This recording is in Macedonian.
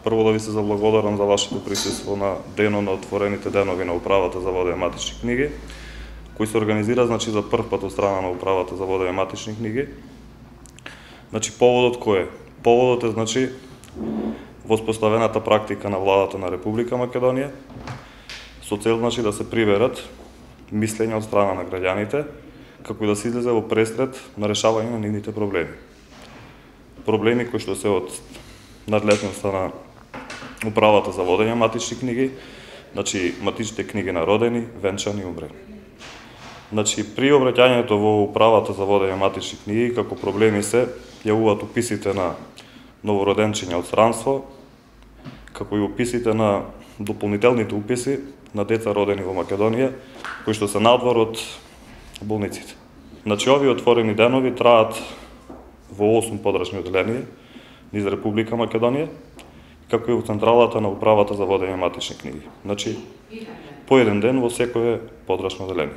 прво да ви се заблагодарам за вашето присуство на денот на отворените денови на Управата за водени матични книги, кој се организира за прв пат од страна на Управата за водени матични книги. Поводот кој е? Поводот е воспоставената практика на владата на Република Македонија со цел да се приберат мислења од страна на граѓаните, како и да се излезе во пресред на решавање на нивните проблеми. Проблеми кои што се од надлежноста на Управата за водење матични книги, матичните книги на родени, венчани и умрели. При обраќањето во Управата за водење матични книги, како проблеми се јавуваат уписите на новороденчиња од странство, како и уписите на дополнителните уписи на деца родени во Македонија, кои што се надвор од болниците. Овие отворени денови траат во 8 подрачни оделенија низ Република Македонија, како и во централата на Управата за водење матични книги. По еден ден во секое подрачно оделение.